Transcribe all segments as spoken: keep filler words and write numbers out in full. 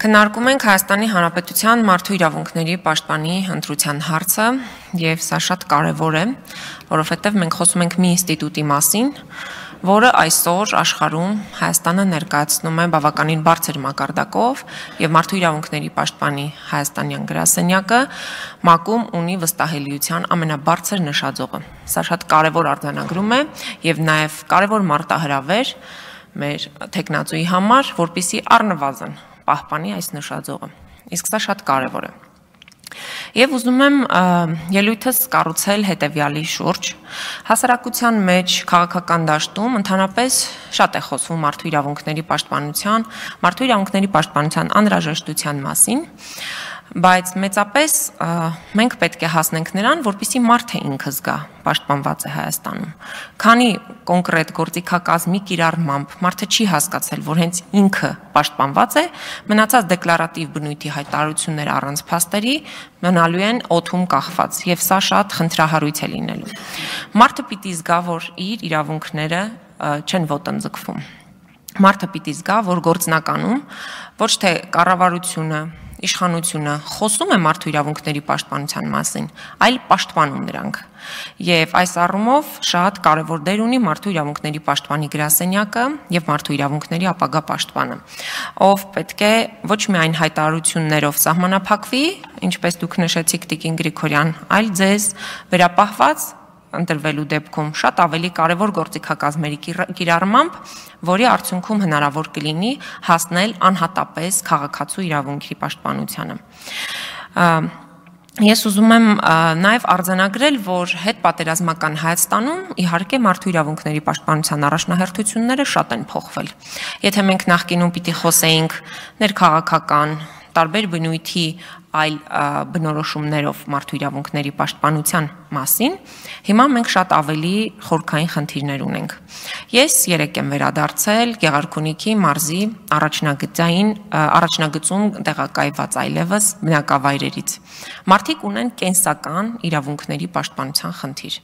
Քննարկում ենք Հայաստանի Հանրապետության մարդու իրավունքների պաշտպանի ընտրության հարցը, եւ սա շատ կարեւոր է, որովհետեւ մենք խոսում ենք մի ինստիտուտի մասին, որը այսօր աշխարհում Հայաստանը ներկայացնում է բավականին բարձր մակարդակով եւ մարդու իրավունքների պաշտպանի հայաստանյան գրասենյակը ՄԱԿ-ում ունի վստահելիության ամենաբարձր նշաձողը։ Սա շատ կարեւոր արձանագրում է եւ նաեւ կարեւոր մարտահրավեր մեր տեխնացուի համար, որպեսզի առնվազն պահպանի այս նշաձողը։ Իսկ սա շատ կարևոր է։ Եվ ուզում եմ ելույթս կառուցել հետևյալի շուրջ։ Հասարակության մեջ քաղաքական դաշտում ընդհանրապես շատ է խոսվում մարդու իրավունքների պաշտպանության, մարդու իրավունքների պաշտպանության անհրաժեշտության մասին, բայց մեծապես մենք պետք է հասնենք նրան, որպեսզի մարդը ինքը զգա պաշտպանված է Հայաստանում։ Քանի կոնկրետ գործիքակազմի կիրառմամբ մարդը չի հասկացել, որ հենց ինքը պաշտպանված է, մնացած դեկլարատիվ բնույթի հայտարարությունները առանց փաստերի մնալու են օդում կախված, եւ սա շատ խնդրահարույց է լինելու։ Մարդը պիտի զգա, որ իր իրավունքները չեն ոտնձգվում։ Մարդը պիտի զգա, որ գործնականում ոչ թե կառավարությունը, իշխանությունը խոսում է մարդու իրավունքների պաշտպանության մասին, այլ պաշտպանում նրանք։ Եվ այս առումով շատ կարևոր դեր ունի մարդու իրավունքների պաշտպանի գրասենյակը եւ մարդու իրավունքների ապագա պաշտպանը, ով պետք է ոչ միայն հայտարարություններով սահմանափակվի, ինչպես դուք նշեցիք Տիկին Գրիգորյան, այլ ձեզ վերապահված ընտրվելու դեպքում շատ ավելի կարևոր գործիքակազմերի կիրառմամբ, որի արդյունքում հնարավոր կլինի հասնել անհատապես քաղաքացու իրավունքի պաշտպանությանը։ Ես ուզում եմ նաև արձանագրել, որ հետպատերազմական Հայաստանում իհարկե մարդու իրավունքների պաշտպանության առաջնահերթությունները շատ են փոխվել։ Եթե մենք նախկինում պիտի խոսեինք ներքաղաքական, տարբեր բնույթի այլ բնորոշումներով մարդու իրավունքների պաշտպանության մասին, հիմա մենք շատ ավելի խորքային խնդիրներ ունենք։ Ես երեկ եմ վերադարձել Գեղարքունիքի մարզի առաջնագծային առաջնագծում տեղակայված այլևս բնակավայրերից։ Մարդիկ ունեն կենսական իրավունքների պաշտպանության խնդիր։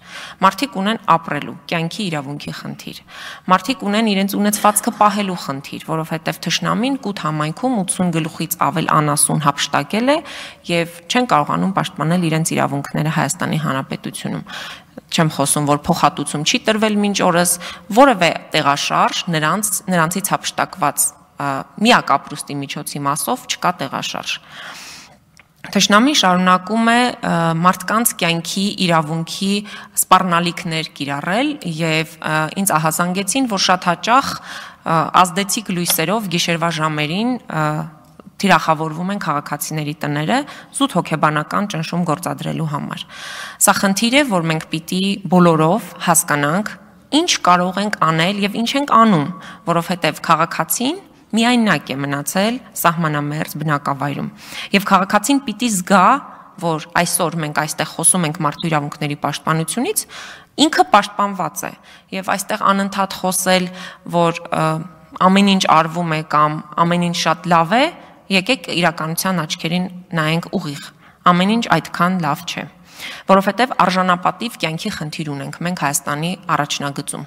Մարդիկ ունեն ապրելու, կյանքի իրավունքի խնդիր։ Մարդիկ ունեն իրենց ունեցվածքը պահելու խնդիր, որովհետև թշնամին կուտ համայնքում ութսուն գլուխից ավել անասուն հափշտակել է եւ չեն կարողանում պաշտպանել իրենց իրավունքները Հայաստանի Հանրապետությունում։ Չեմ խոսում, որ փոխհատուցում չի տրվել մինչ օրս, որևէ տեղաշարժ նրանց նրանցից հափշտակված միակ ապրուստի միջոցի մասով չկա տեղաշարժ։ Թշնամին շարունակում է մարդկանց կյանքի իրավունքի սպառնալիքներ կիրառել եւ ինձ ահազանգեցին, որ շատ հաճախ ազդեցիկ լույսերով գիշերվա ժամերին թիրախավորվում են քաղաքացիների տները զուտ հոգեբանական ճնշում գործադրելու համար։ Սա խնդիր է, որ մենք պիտի բոլորով հասկանանք, ինչ կարող ենք անել եւ ինչ ենք անում, որովհետեւ քաղաքացին միայնակ է մնացել սահմանամերձ բնակավայրում։ Եվ քաղաքացին պիտի զգա, որ այսօր մենք այստեղ խոսում ենք մարդու իրավունքների պաշտպանությունից, ինքը պաշտպանված է։ Եվ այստեղ անընդհատ խոսել, որ ամեն ինչ արվում է կամ ամեն ինչ շատ լավ է, եկեք իրականության աչքերին նայենք ուղիղ։ Ամեն ինչ այդքան լավ չէ, որովհետև արժանապատիվ կյանքի խնդիր ունենք մենք Հայաստանի առաջնագծում։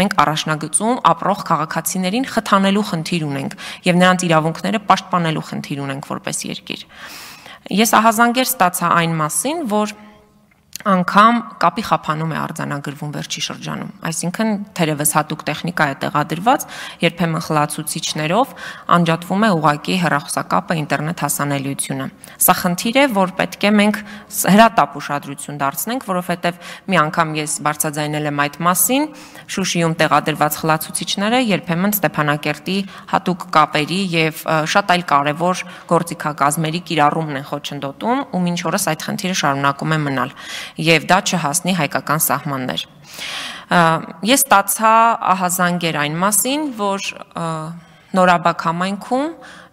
Մենք առաջնագծում ապրող քաղաքացիներին խթանելու խնդիր ունենք եւ նրանց իրավունքները պաշտպանելու խնդիր ունենք որպես երկիր։ Ես ահազանգեր ստացա այն մասին, որ անգամ կապի խափանում է արձանագրվում վերջի շրջանում, այսինքն թերևս հատուկ տեխնիկա է տեղադրված, երբեմն խլացուցիչներով անջատվում է ուղղակի հեռախոսակապը, ինտերնետ հասանելիությունը։ Սա խնդիր է, որ պետք է մենք հրատապ ուշադրություն դարձնենք, որովհետև մի անգամ ես բարձրաձայնել եմ այդ մասին, Շուշիում տեղադրված խլացուցիչները երբեմն Ստեփանակերտի հատուկ կապերի եւ շատ այլ կարեւոր գործիքակազմերի կիրառումն են խոչընդոտում, ու մինչ օրս այդ խնդիրը շարունակում է մնալ։ Եվ դա չհասնի հայկական սահմաններ։ Ես ստացա ահազանգեր այն մասին, որ Նորաբակ համայնքում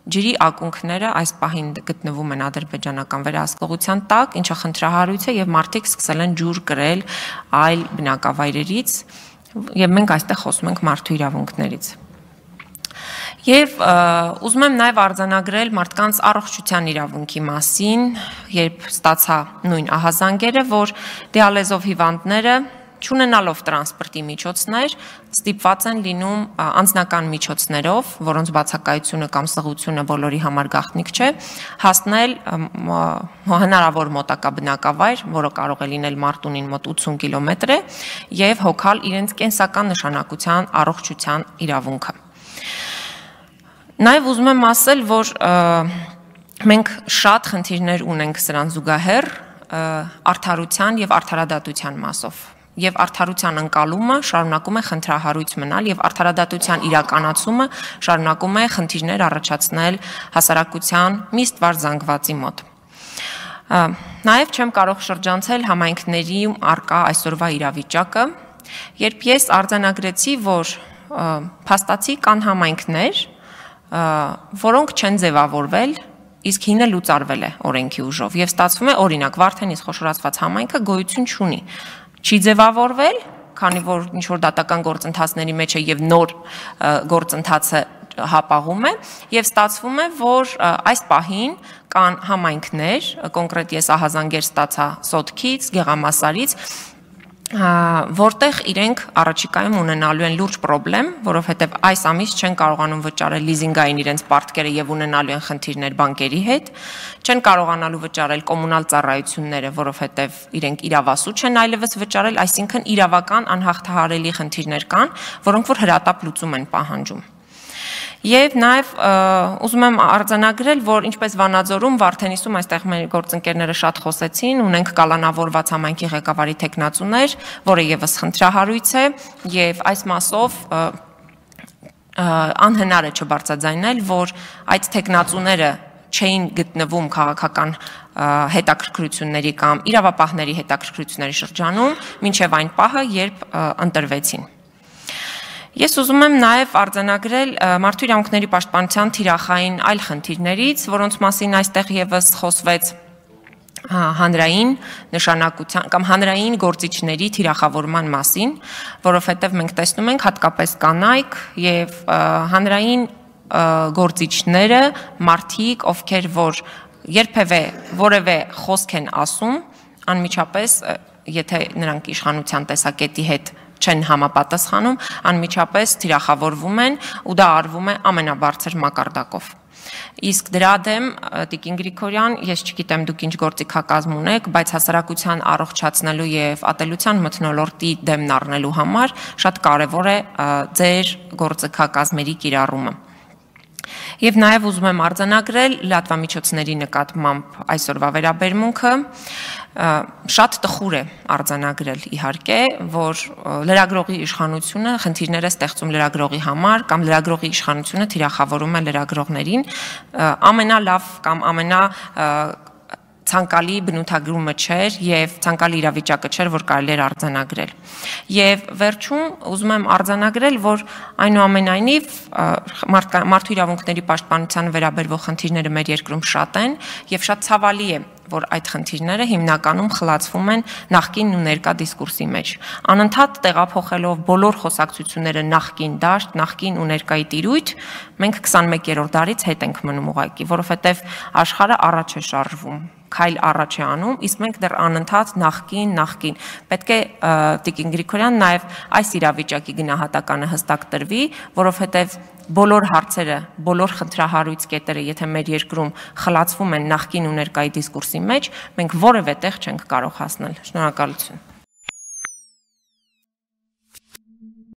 ջրի ակունքները այս պահին գտնվում են ադրբեջանական վերահսկողության տակ, ինչը խնդրահարույց է եւ մարդիկ սկսել են ջուր կրել այլ բնակավայրերից, եւ մենք այստեղ խոսում ենք մարդու իրավունքներից։ Եվ ուզում եմ նաև արձանագրել մարդկանց առողջության իրավունքի մասին, երբ ստացա նույն ահազանգերը, որ դիալեզով հիվանդները չունենալով տրանսպորտի միջոցներ, ստիպված են լինում անձնական միջոցներով, որոնց բացակայությունը կամ սղությունը բոլորի համար գաղտնիք չէ, հասնել հնարավոր մոտակա բնակավայր, որը կարող է լինել Մարտունին մոտ ութսուն կիլոմետր է, եւ հոգալ իրենց կենսական նշանակության առողջության իրավունքը։ Նաեւ ուզում եմ ասել, որ մենք շատ խնդիրներ ունենք սրան զուգահեռ արդարության եւ արդարադատության մասով։ Եվ արդարության ընկալումը շարունակում է խնդրահարույց մնալ եւ արդարադատության իրականացումը շարունակում է խնդիրներ առաջացնել հասարակության մի ստվար զանգվածի մոտ։ Նաեւ չեմ կարող շրջանցել համայնքների արկա այսօրվա իրավիճակը, երբ ես արձանագրեցի, որ փաստացի կան համայնքներ, որոնք չեն ձևավորվել, իսկ հինը լուծարվել է օրենքի ուժով եւ ստացվում է օրինակ Վարդենիս խոշորացված համայնքը գոյություն չունի, չի ձևավորվել, քանի որ ինչ որ դատական գործընթացների մեջ է եւ նոր գործընթացը հապաղում է եւ ստացվում է, որ այս պահին կան համայնքներ, կոնկրետ ես ահազանգեր ստացա Սոտքից, Գեղամասարից, որտեղ իրենք առաջիկայում ունենալու են լուրջ պրոբլեմ, որովհետև այս ամիս չեն կարողանում վճարել լիզինգային իրենց պարտքերը եւ ունենալու են խնդիրներ բանկերի հետ, չեն կարողանալու վճարել կոմունալ ծառայությունները, որովհետև իրենք իրավասու չեն այլևս վճարել, այսինքն իրավական անհաղթահարելի խնդիրներ կան, որոնք որ հրատապ լուծում են պահանջում։ Եվ նաև ուզում եմ արձանագրել, որ ինչպես Վանաձորում, Վարդենիսում այստեղ մեր գործընկերները շատ խոսեցին, ունենք կալանավորված համայնքի ղեկավարի թեկնածուներ, որը եւս խնդրահարույց է, եւ այս մասով անհնար է չբարձրաձայնել, որ այդ թեկնածուները չէին գտնվում քաղաքական հետաքրքրությունների կամ իրավապահների հետաքրքրությունների շրջանում, մինչև այն պահը, երբ ընտրվեցին։ Ես ուզում եմ նաև արձանագրել մարդու իրավունքների պաշտպանության թիրախային այլ խնդիրներից, որոնց մասին այստեղ եւս խոսվեց հանրային նշանակության կամ հանրային գործիչների թիրախավորման մասին, որովհետև մենք տեսնում ենք հատկապես կանայք եւ հանրային գործիչները, մարդիկ, ովքեր որ երբևէ որևէ խոսք են ասում, անմիջապես, եթե նրանք իշխանության տեսակետի հետ չեն համապատասխանում, անմիջապես թիրախավորվում են ու դա արվում է ամենաբարձր մակարդակով։ Իսկ դրա դեմ Տիկին Գրիգորյան, ես չգիտեմ դուք ինչ գործիքակազմ ունեք, բայց հասարակության առողջացնելու եւ ատելության մթնոլորտի դեմն առնելու համար շատ կարեւոր է ձեր գործիքակազմերի կիրառումը։ Եվ նաև ուզում եմ արձանագրել լրատվամիջոցների նկատմամբ այսօրվա վերաբերմունքը, շատ տխուր է արձանագրել իհարկե, որ լրագրողի իշխանությունը խնդիրներ է ստեղծում լրագրողի համար կամ լրագրողի իշխանությունը թիրախավորում է լրագրողներին, ամենալավ կամ ամենա ցանկալի բնութագրումը չէր եւ ցանկալի իրավիճակը չէր, որ կարելի էր արձանագրել։ Եվ վերջում ուզում եմ արձանագրել, որ այնուամենայնիվ մարդու իրավունքների պաշտպանության վերաբերող խնդիրները մեր երկրում շատ են եւ շատ ցավալի է, որ այդ խնդիրները հիմնականում խլացվում են նախկին ու ներկա դիսկուրսի մեջ։ Անընդհատ տեղափոխելով բոլոր խոսակցությունները նախկին դաշտ, նախկին ու ներկայի տիրույթ, մենք քսանմեկերորդ դարից հետ ենք մնում ուղղակի, որովհետեւ աշխարհը առաջ է շարժվում, քայլ առաջ է անում, իսկ մենք դեռ անընդհատ նախկին, նախկին։ Պետք է Տիկին Գրիգորյան նաև այս իրավիճակի գնահատականը հստակ տրվի, որովհետև բոլոր հարցերը, բոլոր խնդրահարույց կետերը, եթե մեր երկրում խլացվում են նախկին ու ներկայի դիսկուրսի մեջ, մենք որևէ տեղ չենք կարող հասնել։ Շնորհակալություն։